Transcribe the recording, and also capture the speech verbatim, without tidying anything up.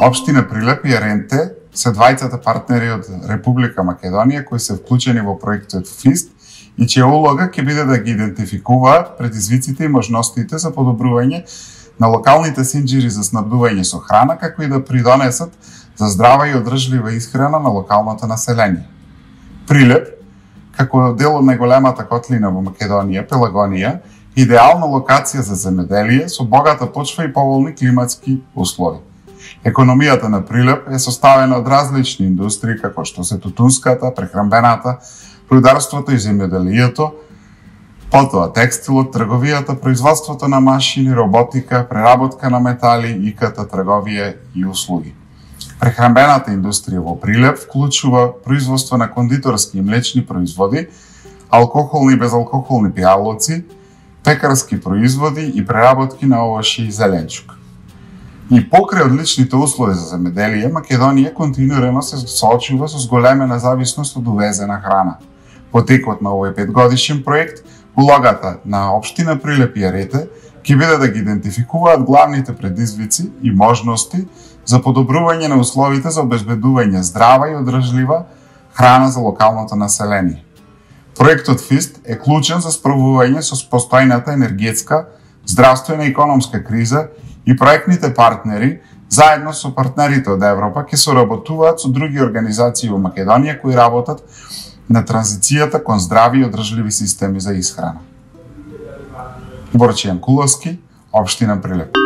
Општина Прилеп и Еренте се двајцата партнери од Република Македонија кои се вклучени во проектот ФИСТ и чија улога ќе биде да ги идентификуваат предизвиците и можностите за подобрување на локалните синџири за снабдување со храна, како и да придонесат за здрава и одржлива исхрана на локалното население. Прилеп, како дел од најголемата котлина во Македонија, Пелагонија, идеална локација за земеделие со богата почва и поволни климатски услови. Економијата на Прилеп е составена од различни индустрии, како што се тутунската, прехранбената, рударството и земјоделието, потоа текстилот, трговијата, производството на машини, роботика, преработка на метали, ИКТ, трговија и услуги. Прехранбената индустрија во Прилеп вклучува производство на кондиторски и млечни производи, алкохолни и безалкохолни пијалоци, пекарски производи и преработки на овошје и зеленчук. И покрај одличните услови за земеделие, Македонија континуирано се соочува со зголемена зависност од увезена храна. По текот на овој петгодишен проект, улогата на општина Прилеп и Еренте ќе биде да ги идентификуваат главните предизвици и можности за подобрување на условите за обезбедување здрава и одржлива храна за локалното население. Проектот ФИСТ е клучен за справување со постојната енергетска, здравствена и економска криза и проектните партнери, заедно со партнерите од Европа, ќе соработуваат со други организации во Македонија кои работат на транзицијата кон здрави и одржливи системи за исхрана. Борче Јанкуловски, општина Прилеп.